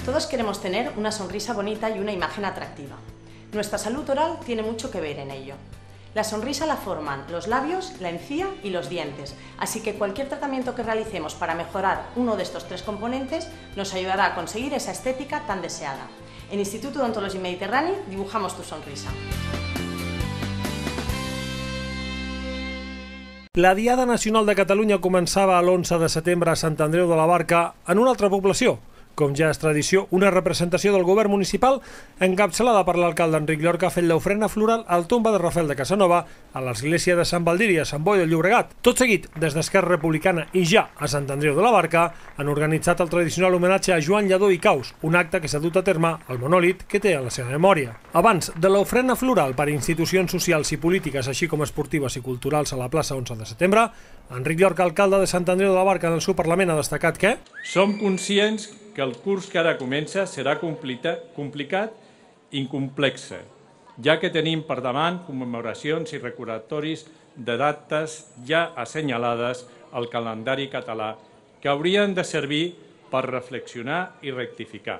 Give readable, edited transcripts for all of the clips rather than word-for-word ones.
Todos queremos tener una sonrisa bonita y una imagen atractiva. Nuestra salud oral tiene mucho que ver en ello. La sonrisa la forman los labios, la encía y los dientes, así que cualquier tratamiento que realicemos para mejorar uno de estos tres componentes nos ayudará a conseguir esa estética tan deseada. En Instituto d'Odontologia Mediterrani dibujamos tu sonrisa. La Diada Nacional de Catalunya començava l'11 de setembre a Sant Andreu de la Barca, en una altra població. Com ja és tradició, una representació del govern municipal encapçalada per l'alcalde Enric Llorca ha fet l'ofrena floral al tomba de Rafael de Casanova a l'església de Sant Baldiri, a Sant Boi de Llobregat. Tot seguit, des d'Esquerra Republicana i ja a Sant Andreu de la Barca, han organitzat el tradicional homenatge a Joan Lladó i Caus, un acte que s'ha dut a terme al monòlit que té a la seva memòria. Abans de l'ofrena floral per a institucions socials i polítiques, així com esportives i culturals a la plaça 11 de setembre, Enric Llorca, alcalde de Sant Andreu de la Barca, en el seu Parlament ha destacat que som conscients que el curs que ara comença serà complicat i complex, ja que tenim per davant commemoracions i recordatoris de dates ja assenyalades al calendari català que haurien de servir per reflexionar i rectificar.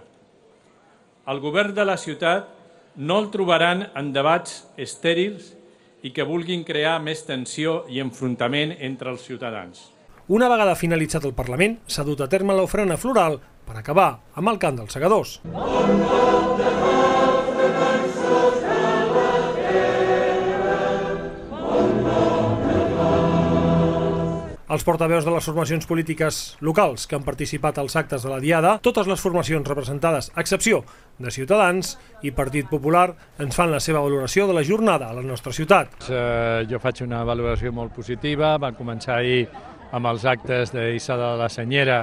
El govern de la ciutat no el trobaran en debats estèrils i que vulguin crear més tensió i enfrontament entre els ciutadans. Una vegada finalitzat el Parlament, s'ha dut a terme l'ofrena floral per acabar amb el cant dels segadors. Els portaveus de les formacions polítiques locals que han participat als actes de la Diada, totes les formacions representades, a excepció de Ciutadans i Partit Popular, ens fan la seva valoració de la jornada a la nostra ciutat. Jo faig una valoració molt positiva. Va començar ahir amb els actes d'Hissada de la Senyera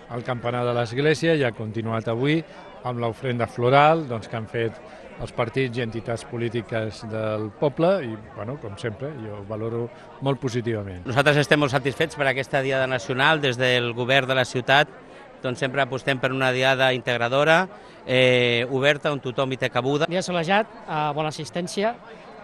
al campanar de l'església i ha continuat avui amb l'ofrenda floral que han fet els partits i entitats polítiques del poble i, com sempre, jo ho valoro molt positivament. Nosaltres estem molt satisfets per aquesta Diada Nacional. Des del govern de la ciutat sempre apostem per una diada integradora, oberta, on tothom hi té cabuda. Dia solejat, bona assistència.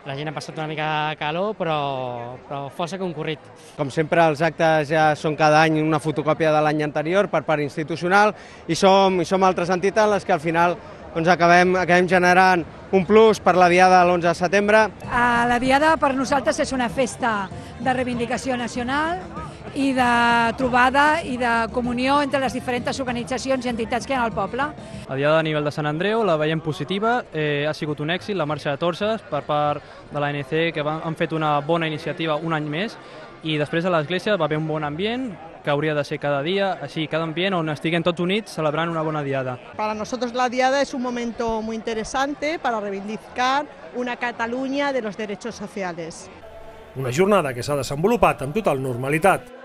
La gent ha passat una mica de calor, però força concurrit. Com sempre, els actes ja són cada any una fotocòpia de l'any anterior per part institucional i som altres entitats les que al final acabem generant un plus per la Diada l'11 de setembre. La Diada per nosaltres és una festa de reivindicació nacional i de trobada i de comunió entre les diferents organitzacions i entitats que hi ha al poble. La Diada a nivell de Sant Andreu la veiem positiva, ha sigut un èxit la marxa de torses per part de l'ANC, que han fet una bona iniciativa un any més, i després a l'església va haver un bon ambient, que hauria de ser cada día, así cada ambient on estiguen tots units celebrant una bona diada. Para nosotros la diada es un momento muy interesante para reivindicar una Cataluña de los derechos sociales. Una jornada que s'ha desenvolupat amb total normalitat.